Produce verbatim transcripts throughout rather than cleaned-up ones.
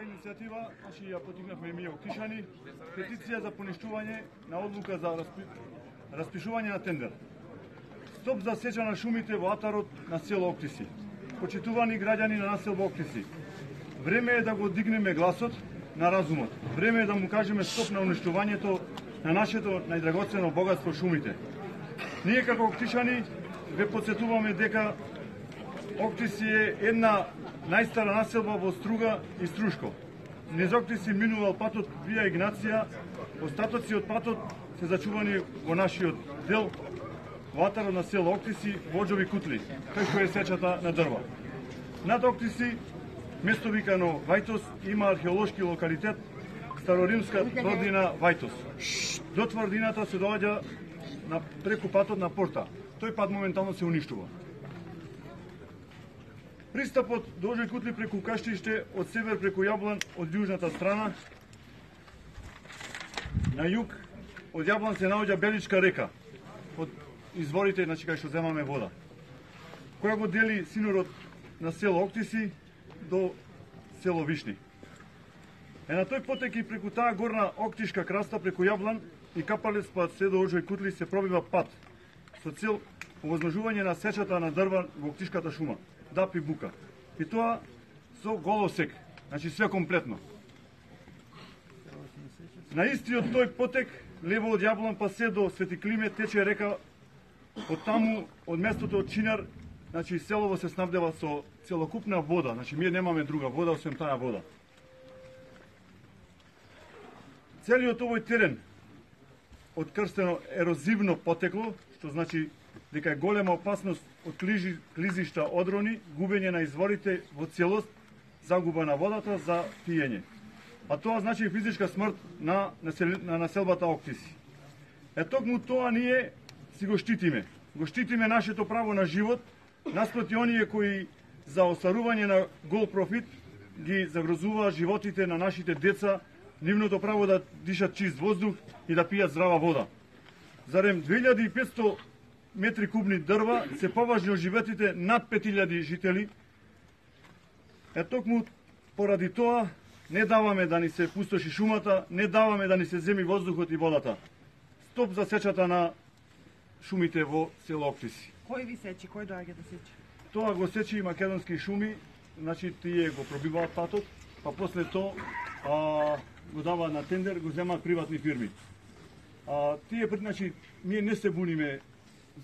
иницијатива, значи ја потикнавме и ние Октишани, петиција за поништување на одлука за распи... распишување на тендер. Стоп за сеча на шумите во атарот на село Октиси. Почитувани граѓани на населба Октиси, време е да го дигнеме гласот на разумот. Време е да му кажеме стоп на уништувањето на нашето најдрагоцено богатство шумите. Ние како Октишани ве подсетуваме дека Октиси е една најстара населба во Струга и Струшко. Низ Октиси минувал патот Вија Игнација, остатоци од патот се зачувани во нашиот дел, во атарот на село Октиси, Воџови кутли, кај што е сечата на дрва. Над Октиси, место викано Вајтос, има археолошки локалитет, староримска тврдина Вајтос. До тврдината се доаѓа на преку патот на Порта. Тој пат моментално се уништува. Пристапот до Воџови кутли преку Каштиште, од север преку Јаблан, од јужната страна, на југ, од Јаблан се наоѓа Беличка река, од изворите, значи кај што земаме вода, која го дели синорот на село Октиси до село Вишни. Е на тој потек и преку таа горна Октишка краста преку Јаблан и Капалец пат се до Воџови кутли се пробива пат со цел овозможување на сечата на дрва во Октишката шума, дап и бука. И тоа со голосек, значи све комплетно. На истиот тој потек, лево од Јаблан па се до Свети Климе, тече река. Од таму, од местото од Чинар, значи селово се снабдева со целокупна вода, значи ние немаме друга вода освен таа вода. Целиот овој терен открстено ерозивно потекло, што значи дека е голема опасност од клижи, клизишта одрони, губење на изворите во целост, загуба на водата за пиење. А тоа значи физичка смрт на, насел... на населбата Октиси. Е токму тоа ние си го штитиме. Го штитиме нашето право на живот, наспроти оние кои за остарување на гол профит ги загрозуваат животите на нашите деца, нивното право да дишат чист воздух и да пијат здрава вода. Зарем две илјади и петсто метри кубни дрва се поважни од животите над пет илјади жители. Е токму поради тоа не даваме да ни се пустоши шумата, не даваме да ни се земи воздухот и водата. Стоп за сечата на шумите во село Октиси. Кој ви сечи? Кој доаѓа да сечи? Тоа го сечи и македонски шуми, значи тие го пробиваат патот, па после тоа а, го даваат на тендер, го земаат приватни фирми. А, тие, значи, ние не се буниме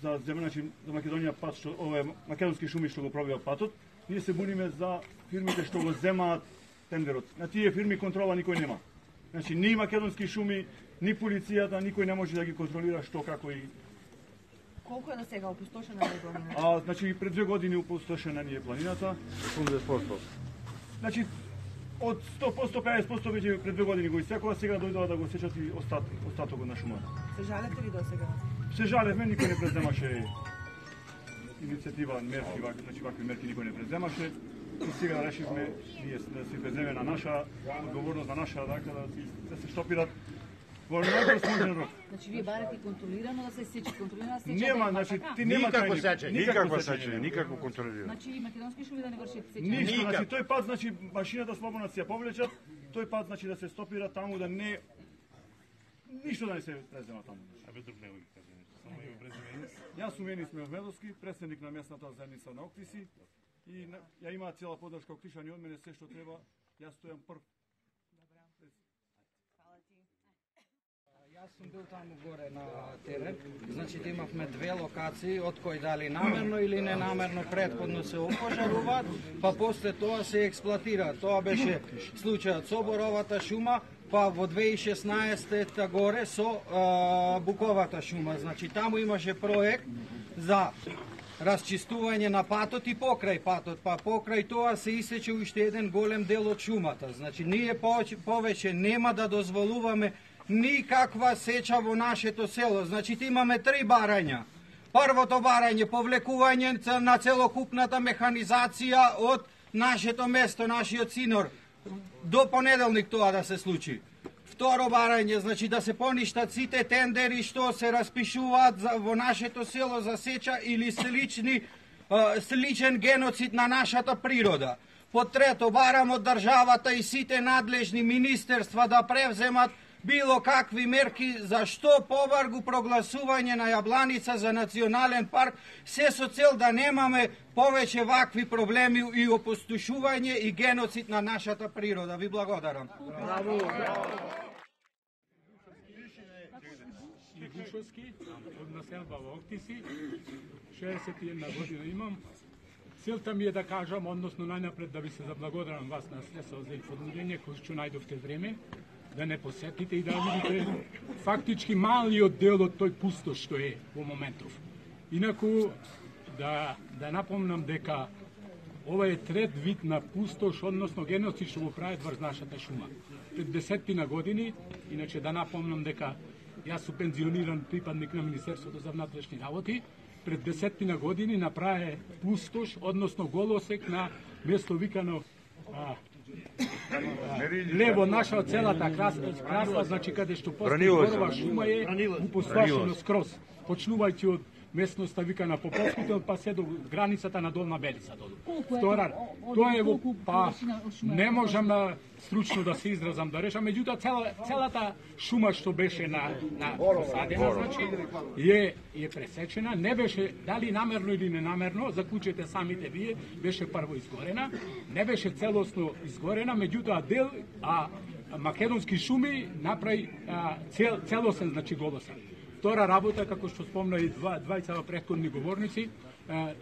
за земја, значи, за Македонија пат, што, ове македонски шуми што го пробиваат патот, ние се буниме за фирмите што го земаат тендерот. На тие фирми контрола никој нема. Значи, ни македонски шуми, ни полицијата, никој не може да ги контролира што, како и... Колку е до сега опустошена е планината? А, значи, пред две години опустошена ни е планината. осемдесет проценти. Значи, од сто проценти пеесет проценти веќе пред две години го исекува, сега дојдува да го сечат и остат, остатокот на шумата. Се жалете ли до сега? Се жалевме, никој не преземаше иницијатива, мерки, значи вакви мерки никој не преземаше. И сега решивме ние да се преземе на наша одговорност, на наша рака, да, да се штопират во најдосможен рок. Значи вие барате контролирано да се сече, контролирано да се сече. Нема, значи ти нема никако тајни, сечење, никако сечење, никако контролирано. Значи и македонски шуми да не вршат сечење. Ништо, значи тој пат, значи машината слободно да се ја повлечат, тој пат значи да се стопира таму, да не ништо да не се презема таму. А бе друг него ги каже нешто, само ја преземе. Јас сум Енис Мевмедовски, претседник на местната заедница на Октиси и ја имаат цела подршка Октишани од мене, се што треба, јас стојам прв. Јас сум бил таму горе на терен, значи имавме две локации, од кои дали намерно или ненамерно предходно се опожаруваат, па после тоа се експлоатира. Тоа беше случајот со боровата шума, па во две илјади и шеснаесета горе со а, буковата шума. Значи таму имаше проект за расчистување на патот и покрај патот, па покрај тоа се исече уште еден голем дел од шумата. Значи ние повеќе нема да дозволуваме никаква сеча во нашето село. Значи имаме три барања. Првото барање повлекување на целокупната механизација од нашето место, нашиот синор, до понеделник тоа да се случи. Второ барање, значи да се поништат сите тендери што се распишуваат за, во нашето село за сеча или слични, сличен геноцид на нашата природа. По трето, барам од државата и сите надлежни министерства да превземат било какви мерки за што побаргу прогласување на Јабланица за национален парк, се со цел да немаме повеќе вакви проблеми и опустошување и геноцид на нашата природа. Ви благодарам. Гушовски, од населба во Октиси, шеесет и една година имам. Целта ми е да кажам, односно најнапред да ви се заблагодарам вас на средства за информирање кој што најдовте време, да не посетите и да видите фактички малиот дел од тој пустош што е во моментов. Инаку, да, да напомнам дека ова е трет вид на пустош, односно геноцид што го прават врз нашата шума. Пред десетина години, иначе да напомнам дека јас сум пензиониран припадник на Министерството за внатрешни работи, пред десетина години направи пустош, односно голосек на место викано а, а, лево наша целата красва, красва, значи каде што постои горова шума е упустошено скроз, почнувајќи од местноста викана Поповските, па се до границата на Долна Белица долу. Втора, тоа е во па не можам на стручно да се изразам да решам, меѓутоа цела, целата шума што беше на на посадена, значи е е пресечена, не беше дали намерно или ненамерно, заклучете самите вие, беше прво изгорена, не беше целосно изгорена, меѓутоа дел а македонски шуми направи а, цел, целосен, значи голосен. Втора работа, како што спомна и два, двајца претходни говорници,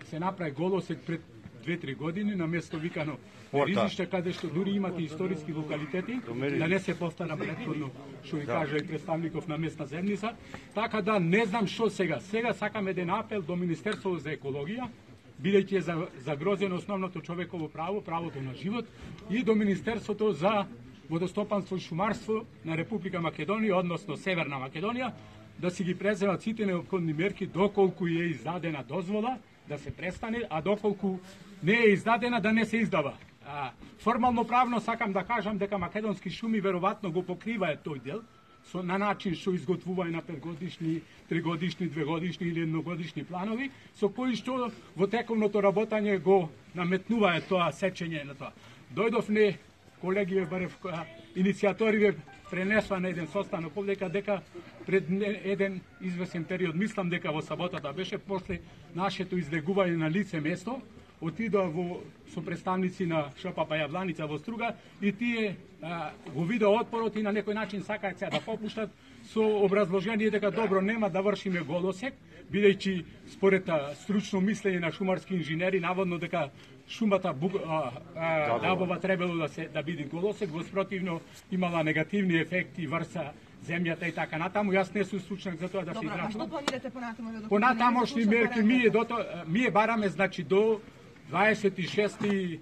се направи голосек пред две-три години на место викано Ризиште, каде што дури имате историски локалитети, да не се повтара претходно што ви кажа и представников на местна земница. Така да не знам што сега. Сега сакам еден апел до Министерството за екологија, бидејќи е загрозено основното човеково право, правото на живот, и до Министерството за водостопанство и шумарство на Република Македонија, односно Северна Македонија, да си ги преземат сите неопходни мерки доколку е издадена дозвола да се престане, а доколку не е издадена да не се издава. А, формално правно сакам да кажам дека македонски шуми веројатно го покриваат тој дел со на начин што изготвуваат на петгодишни, тригодишни, двегодишни или едногодишни планови, со кои што во тековното работање го наметнуваат тоа сечење на тоа. Дојдовме, колеги, барев иницијатори пренесла на еден состанок овдека дека пред еден извесен период, мислам дека во саботата беше, после нашето излегување на лице место, отидоа во со представници на ШПП Јабланица во Струга и тие а, го видеа отпорот и на некој начин сакаат се да попуштат со образложение дека добро нема да вршиме голосек, бидејќи според а, стручно мислење на шумарски инженери наводно дека шумата буг, а, а, дабова требало да се да биде голосек, во спротивно имала негативни ефекти врса земјата и така натаму. Јас не сум стручнак за тоа да се израчувам. Добро, а што планирате понатаму? Понатамошни мерки ние до ние бараме, значи до дваесет и шести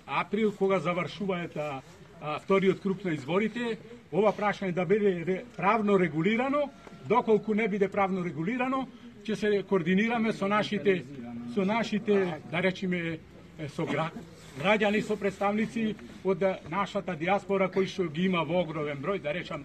април, кога завршуваат а, а, вториот круг на изборите, ова прашање да биде правно регулирано. Доколку не биде правно регулирано, ќе се координираме со нашите со нашите, да речеме, со граѓани, со представници од нашата диаспора кои што ги има во огромен број, да речам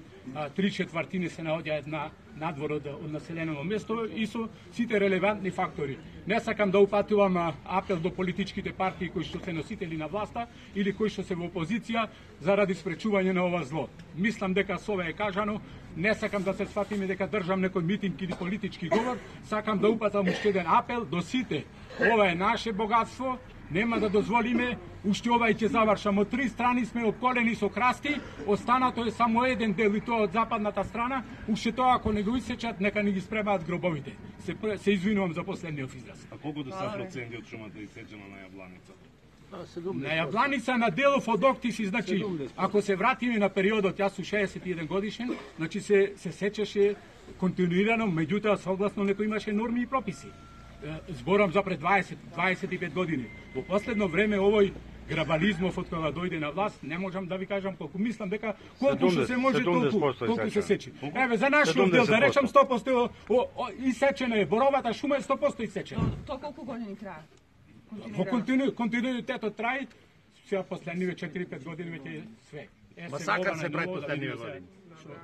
три четвртини се наоѓаат на надвор од, од населеното место и со сите релевантни фактори. Не сакам да упатувам апел до политичките партии кои што се носители на власта или кои што се во опозиција заради спречување на ова зло. Мислам дека со ова е кажано, не сакам да се сватиме дека држам некој митинг или политички говор, сакам да упатам уште еден апел до сите. Ова е наше богатство, нема да дозволиме, уште ова ќе завршам. Од три страни сме обколени со красти, останато е само еден дел и тоа од западната страна, уште тоа ако не го исечат, нека не ги спремаат гробовите. Се, се извинувам за последниот израз. А колку до са проценти од шумата исечена на Јабланица? На Јабланица на делов од Октиси, значи, ако се вратиме на периодот, јас сум шеесет и еден годишен, значи се, се сечеше континуирано, меѓутоа согласно некој имаше норми и прописи. Зборам за пред дваесет до дваесет и пет години. Во последно време овој грабализмов од кога дојде на власт, не можам да ви кажам колку, мислам дека колку што се може толку, толку се сечи. Еве за нашиот дел да речам сто проценти исечена е, боровата шума е сто проценти исечена. Тоа колку години трае? Во контину, континуитетот трае, сега последниве четири-пет години веќе све. Ма сакат се прави последниве години.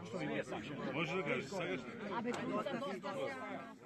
Што и не сакам. Може да кажеш сега? Абе, доста, доста.